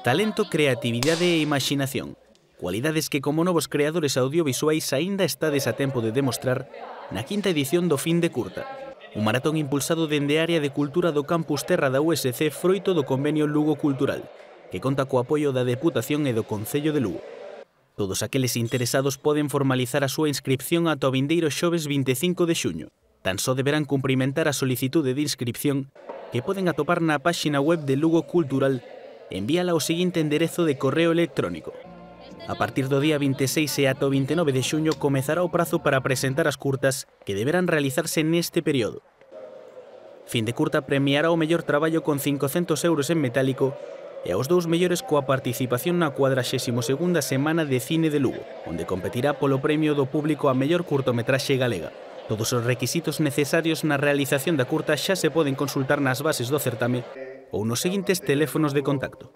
Talento, creatividade e imaxinación. Cualidades que como novos creadores audiovisuais aínda estades a tempo de demostrar na quinta edición do Fin de Curta. Un maratón impulsado dende a área de cultura do Campus Terra da USC froito do convenio Lugo Cultural, que conta co apoio da Deputación e do Concello de Lugo. Todos aqueles interesados poden formalizar a súa inscripción ata o vindeiro xoves 25 de xuño. Tan só deberán cumprimentar a solicitude de inscripción que poden atopar na páxina web de Lugo Cultural e envíala ao seguinte enderezo de correo electrónico. A partir do día 26 e ata o 29 de xuño comezará o prazo para presentar as curtas que deberán realizarse neste período. Fin de Curta premiará o mellor traballo con 500 euros en metálico e aos dous mellores coa participación na 42ª Semana de Cine de Lugo, onde competirá polo premio do público a mellor curtometraxe galega. Todos os requisitos necesarios na realización da curta xa se poden consultar nas bases do certame ou nos seguintes teléfonos de contacto.